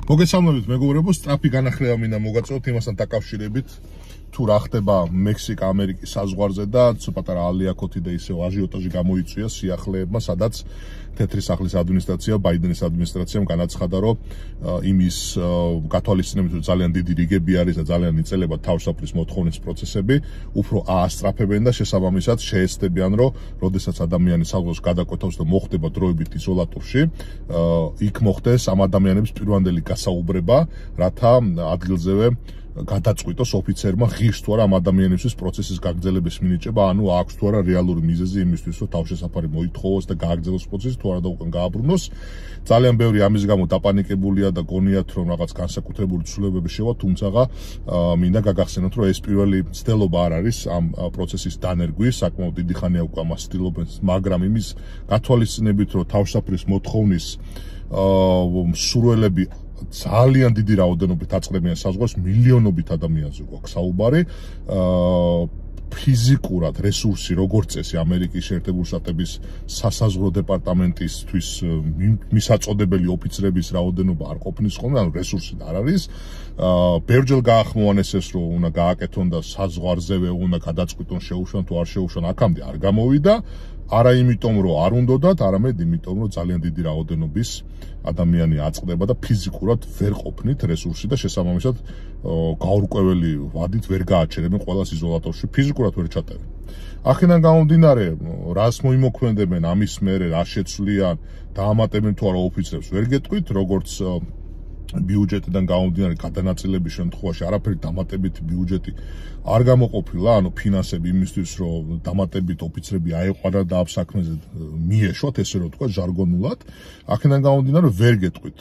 მოგესალმებით მეგობრებო, სწრაფი განახლება მინდა მოგაწოდოთ იმასთან დაკავშირებით, თუ რა ხდება მექსიკა-ამერიკის საზღვარზე და პატარა ალიაკოთი და ისევ აჟიოტაჟი გამოიწვია სიახლეებმა, სადაც თეთრი სახლის ადმინისტრაცია, ბაიდენის ადმინისტრაციამ განაცხადა, რომ იმის გათვალისწინებით, რომ ძალიან დიდი რიგები არის და ძალიან იწელება თავშესაფრის მოთხოვნის პროცესები, უფრო აასწრაფებენ და შესაბამისად შეეცდებიან, რომ როდესაც ადამიანი საზღვარს გადაკვეთავს და მოხდება დროებით იზოლატორში, იქ მოხდეს ამ ადამიანების პირვანდელი გასაუბრება, რათა ადგილზევე გადაწყვიტოს ოფიცერმა ღირს თუ არა ამ ადამიანისთვის პროცესის გაგრძელების მინიჭება, ანუ აქვს თუ არა რეალური მიზეზი იმისთვის, რომ თავშესაფარი მოითხოვოს და გააგრძელოს პროცესი, თუ არა და უკან გააბრუნოს. ძალიან ბევრი ამის გამო დაპანიკებულია და გონიათ, რომ რაღაც განსაკუთრებული ცვლილებები შევა, თუმცა მინდა გაგახსენოთ, რომ ეს პირველი მცდელობა არ არის ამ პროცესის დანერგვის, საკმაოდ დიდი ხანია უკვე ამას ცდილობენ, მაგრამ იმის გათვალისწინებით, რომ თავშესაფრის მოთხოვნის მსურველები ძალიან დიდი რაოდენობით აწყდებიან საზღვარს, მილიონობით ადამიანზე გვაქვს საუბარი. ფიზიკურად რესურსი როგორც წესი ამერიკის შეერთებული შტატების სასაზღვრო დეპარტამენტისთვის მისაწოდებელი ოფიცრების რაოდენობა არ ყოფნის ხოლმე, ანუ რესურსი არ არის. ბევრჯერ გაახმოვანეს ეს, რომ უნდა გააკეთონ და საზღვარზევე უნდა გადაწყვიტონ შეუშვან თუ არ შეუშვან, აქამდე არ გამოვიდა. არა იმიტომ, რომ არ უნდათ, არამედ იმიტომ, რომ ძალიან დიდი რაოდენობის ადამიანი აწყდება და ფიზიკურად ვერ ყოფნით რესურსი და შესაბამისად გაურკვეველი ვადით ვერ გააჩერებენ ყველას იზოლატორში, ფიზიკურად ვერ ჩატევენ. აქედან გამომდინარე, რას მოიმოქმედებენ ამის მერე, რა შეცვლიან, დაამატებენ თუ არა ოფიცრებს, ვერ გეტყვით, როგორც ბიუჯეტიდან გამომდინარე გადანაწილების შემთხვევაში არაფერი დამატებითი ბიუჯეტი არ გამოყოფილა, ანუ ფინანსები იმისთვის, რომ დამატებით ოფიცრები აეყვანათ და ამ საქმეზე მიეშვათ, ესე რომ თქვა ჟარგონულად. აქედან გამომდინარე ვერ გეტყვით,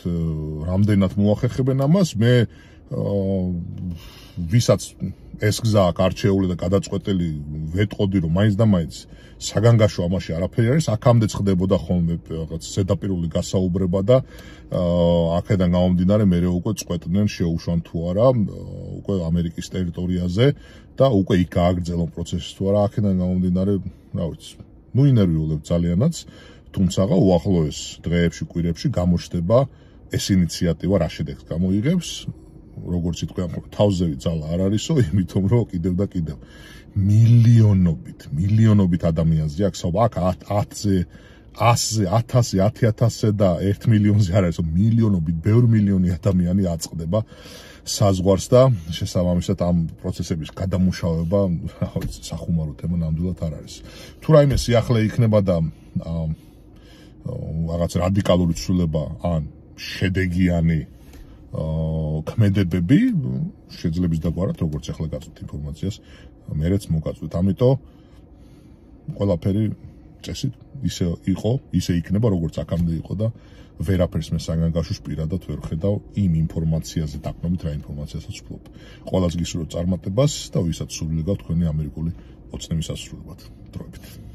რამდენად მოახერხებენ ამას, მე ვისაც ეს გზა აქვს არჩეული და გადაწყვეტილი ვეტყოდი, რომ მაინც და მაინც საგანგაშო ამაში არაფერი არის, აქამდეც ხდებოდა ხოლმე რაღაც ზედაპირული გასაუბრება და აქედან გამომდინარე მერე უკვე წყვეტდნენ შეუშვან თუ არა უკვე ამერიკის ტერიტორიაზე და უკვე იქ გააგრძელონ პროცესი თუ არა. აქედან გამომდინარე, რა ვიცი, ინერვიულებ ძალიანაც, თუმცა უახლოეს დღეებში, კვირებში გამოჩნდება ეს ინიციატივა რა შედეგს გამოიღებს. როგორც იტყვიან, თავზევი ძალა არ არისო, იმიტომ რომ კიდევ და კიდევ მილიონობით ადამიანზე აქვს საუბარი, აქ 10-ზე, 100-ზე, 1000-ზე, 10,000-ზე და 1 მილიონზე არ არის, მილიონობით, ბევრი მილიონი ადამიანი აწყდება საზღვარს და შესაბამისად ამ პროცესების გადამუშავება, სახუმარო თემა ნამდვილად არ არის. თუ რაიმე სიახლე იქნება და რაღაც რადიკალური ცვლილება ან შედეგიანი ქმედებები შეძლებს დაგვარად, როგორც ახლა გაწვით ინფორმაციას, მერეც მოგაწვით. ამიტომ ყველაფერი წესით ისე იყო, ისე იქნება, როგორც აქამდე იყო და ვერაფერს მე საგანგაშოს პირადად ვერ ხედავ იმ ინფორმაციაზე დაყრდნობით, რა ინფორმაციასაც ვფლობ. ყველას გისურვებთ წარმატებას და ვისაც სურვილი გაქვთ თქვენი ამერიკული ოცნების ასრულებად. დროებით.